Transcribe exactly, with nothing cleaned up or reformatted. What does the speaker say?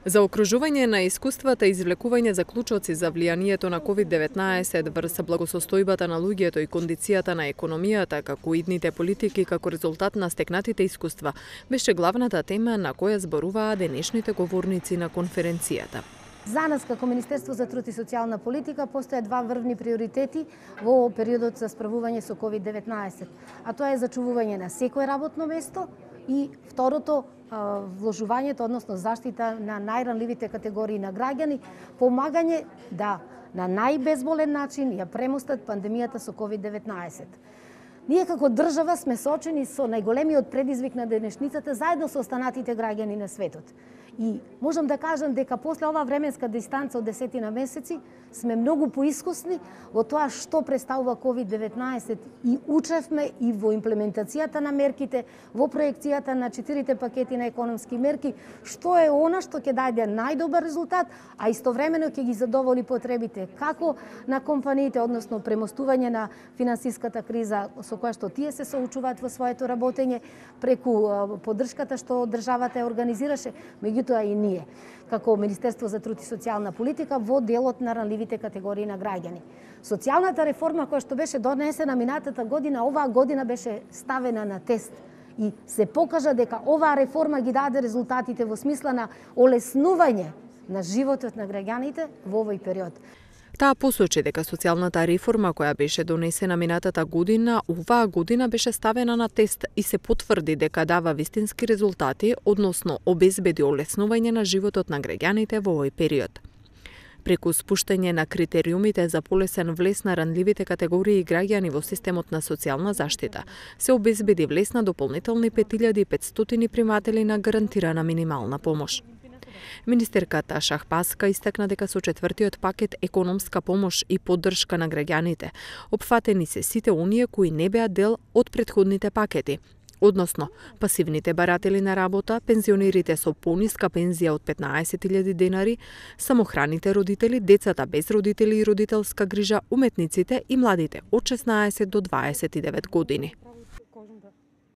За окружување на искуствата и извлекување заклучоци за влијанието на ковид деветнаесет врз благосостојбата на луѓето и кондицијата на економијата, како идните политики како резултат на стекнатите искуства, беше главната тема на која зборуваа денешните говорници на конференцијата. За нас како Министерство за труд и социјална политика постојат два врвни приоритети во периодот за справување со ковид деветнаесет, а тоа е зачувување на секое работно место и второто вложувањето, односно заштита на најранливите категории на граѓани, помагање да на најбезболен начин ја премостат пандемијата со ковид деветнаесет. Ние како држава сме соочени со најголемиот предизвик на денешницата заедно со останатите граѓани на светот. И можам да кажам дека после оваа временска дистанца од десетина месеци сме многу поискусни во тоа што представува ковид деветнаесет и учевме и во имплементацијата на мерките, во проекцијата на четирите пакети на економски мерки, што е она што ќе даде најдобар резултат, а истовремено ќе ги задоволи потребите како на компаниите, односно премостување на финансиската криза со која што тие се соочуваат во своето работење, преку поддршката што државата ја организираше, меѓутоа и ние, како Министерство за труд и социјална политика, во делот на ранливите категории на граѓани. Социјалната реформа која што беше донесена минатата година, оваа година беше ставена на тест и се покажа дека оваа реформа ги даде резултатите во смисла на олеснување на животот на граѓаните во овој период. Таа посочи дека социјалната реформа која беше донесена минатата година, оваа година беше ставена на тест и се потврди дека дава вистински резултати, односно обезбеди олеснување на животот на граѓаните во овој период. Преку спуштање на критериумите за полесен влез на ранливите категории граѓани во системот на социјална заштита, се обезбеди влез на дополнителни пет илјади и петстотини приматели на гарантирана минимална помош. Министерката Шахбазка истакна дека со четвртиот пакет економска помош и поддршка на граѓаните опфатени се сите оние кои не беа дел од претходните пакети, односно пасивните баратели на работа, пензионерите со пониска пензија од петнаесет илјади денари, самохраните родители, децата без родители и родителска грижа, уметниците и младите од шеснаесет до дваесет и девет години.